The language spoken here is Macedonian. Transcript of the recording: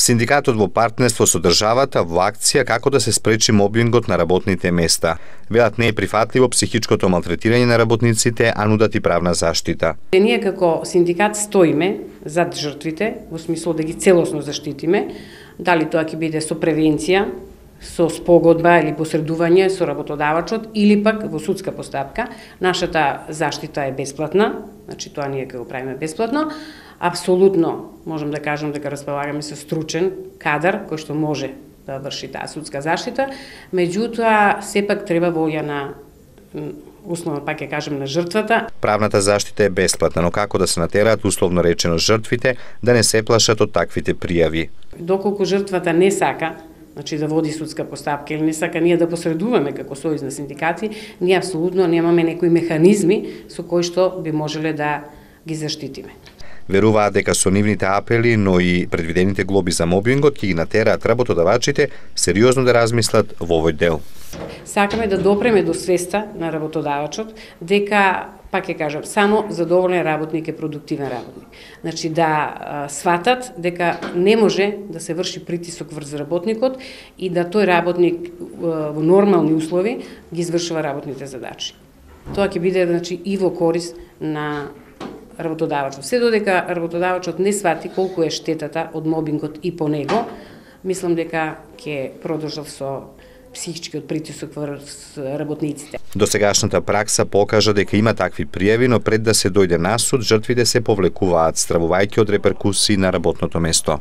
Синдикатот во партнерство со државата во акција како да се спречи мобингот на работните места. Велат не е прифатливо психичкото малтретирање на работниците, а нудат и правна заштита. Ние како синдикат стоиме зад жртвите, во смисло да ги целосно заштитиме, дали тоа ќе биде со превенција, со спогодба или посредување со работодавачот или пак во судска постапка. Нашата заштита е бесплатна, значи тоа ние ќе го правиме бесплатно. Апсолутно можам да кажам дека располагаме со стручен кадар кој што може да врши таа судска заштита, меѓутоа сепак треба волја на условно пак ќе кажем на жртвата. Правната заштита е бесплатна, но како да се натераат условно речено жртвите да не се плашат од таквите пријави? Доколку жртвата не сака, значи да води судска постапка или не сака ние да посредуваме како сојуз на синдикати, ние апсолутно немаме некои механизми со кои што би можеле да ги заштитиме. Веруваат дека со нивните апели, но и предвидените глоби за мобингот ќе ги натераат работодавачите сериозно да размислат во овој дел. Сакаме да допреме до свеста на работодавачот дека, пак ќе кажам, само задоволен работник е продуктивен работник. Значи да сватат дека не може да се врши притисок врз работникот и да тој работник во нормални услови ги извршува работните задачи. Тоа ќе биде значи и во корист на работодавачот. Се додека работодавачот не свати колку е штетата од мобингот и по него, мислам дека ќе продолжат со психичкиот притисок врз работниците. Досегашната пракса покажа дека има такви пријави, но пред да се дојде на суд, жртвите се повлекуваат, стравувајќи од реперкусии на работното место.